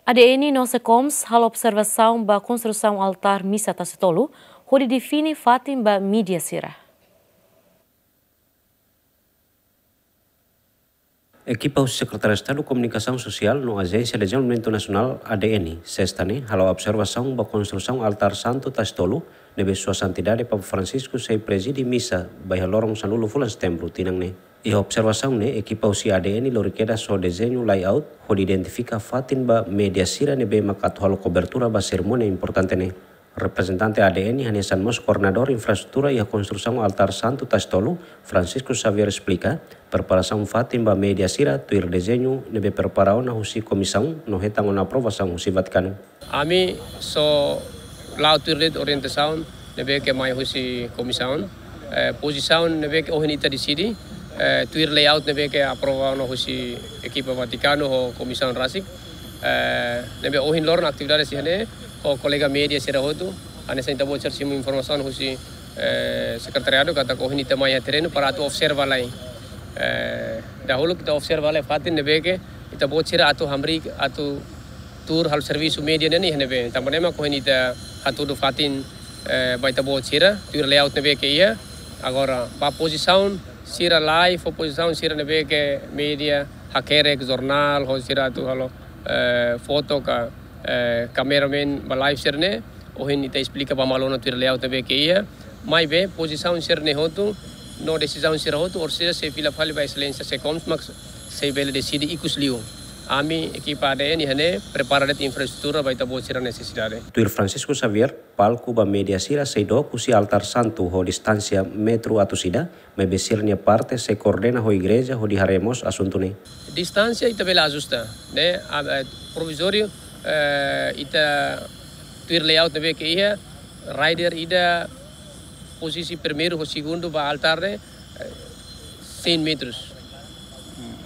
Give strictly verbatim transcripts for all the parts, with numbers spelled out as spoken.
A D N no SECOMS halo observasaun ba konstrusaun altár misa Tasitolu, hodi define fatin ba média sira. Ekipa husi Sekretáriu Estadu Komunikasaun Sosiál no Ajénsia Dezenvolvimentu Nasionál, A D N, sesta ne'e halo observasaun ba konstrusaun altár santu Tasitolu, ne'ebé Sua Santidade Papa Francisco sei prezide misa ba iha loron sanulu fulan Setembru tinan ne'e. Iha observasaun ne'e, ekipa husi A D N lori kedas ho dezeñu layout hodi identifika fatin ba média sira ne'ebé mak atu halo kobertura ba serimónia importante ne'e. Reprezentante A D N hanesan mós koordenadór infraestrutura iha konstrusaun altár santu Tasitolu, Francisco Xavier, esplika preparasaun fatin ba média sira tuir dezeñu ne'ebé prepara ona husi komisaun no hetan ona aprovasaun husi Vatikanu. Ami só la'o tuir de'it orientasaun ne'ebé ke mai husi komisaun. Eh, pozisaun ne'ebé ke ohin ita deside, eh, tuir layout ne'ebé ke aprova ona husi ekipa Vatikanu ho komisaun rasik. Eh, ne'ebé ohin loron atividade sira ne'e ho kolega média sira hotu, hanesan ita-boot sira simu informasaun husi, eh, sekretariadu katak ohin ita mai iha terrenu para atu observa lai. Eh, dahuluk ita observa lai fatin ne'ebé ke ita-boot sira atu hamriik, atu tuur halo servisu média ne'e iha ne'ebé. Tanba ne'e mak ohin ita hatudu fatin, eh, ba ita-boot sira, tuir layout ne'ebé ke iha. Agora, ba pozisaun sira live, ho pozisaun sira ne'ebé ke média, hakerek, jornál, ho sira atu halo, eh, foto ka, eh, kameramen ba live sira ne'e, ohin ita esplika ba malu ona tuir layout ne'ebé ke iha. Maibé, pozisaun sira ne'e hotu, no desizaun sira hotu, orsida sei fila fali ba Exelénsia SECOMS mak sei bele deside ikus liu. Ami, ekipa A D N iha ne'e, prepara de'it infraestrutura ba ita-boot sira nesesidade. Tuir Francisco Xavier, palku ba média sira sei dook husi altár santu ho distánsia metru atus ida, maibé sira-nia parte sei koordena ho igreja hodi haree mós asuntu ne'e. Distánsia ita bele ajusta, ne'e, a, a, provizóriu, eh, ita tuir layout ne'ebé ke iha, rider ida pozisi primeiru ho segundu ba altár ne'e, eh, cem metros.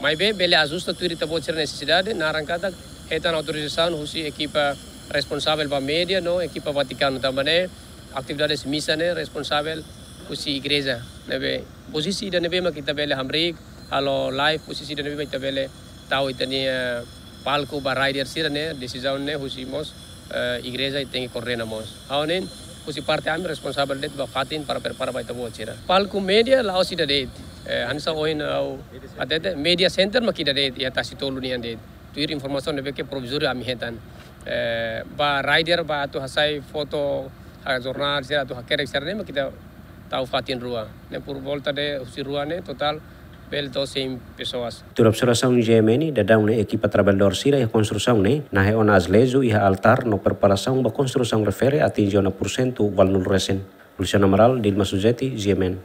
Maibé bele ajusta tuir ita-boot sira nesesidade, naran katak hetan autorizasaun husi ekipa responsavel ba média no ekipa Vatikanu, tanba ne'e atividade misa ne'e responsavel husi igreja. Ne'ebé pozisi ida ne'ebé mak ita bele hamriik, halo live, pozisi ida ne'ebé mak ita bele tau ita-nia palku ba rider sira ne'e, desizaun ne'e husi mós, eh, igreja tenke koordena mós. Ha'u ne'e, husi parte ami responsavel de'it ba fatin para prepara ba ita-boot sira. Palku média la'ós ida de'it. Eh, hanesan ohin ha'u hatete, média center mak ida de'it, iha Tasitolu nian de'it. Tuir informasaun ne'ebé ke provizóriu ami hetan. Eh, ba rider ba atu hasai foto, ha jornál sira atu hakerek sira ne'e mak ita tau fatin rua. Ne'e por volta de husi rua ne'e totál bele to'o cem pessoas. Tuir observasaun GMN, daudaun ne'e ekipa traballadór sira iha konstrusaun ne'e nahe ona azuleju iha altár no preparasaun ba konstrusaun refere atinje ona pursentu valnul resin. Luciano Amaral, Dilma Suzeti, GMN.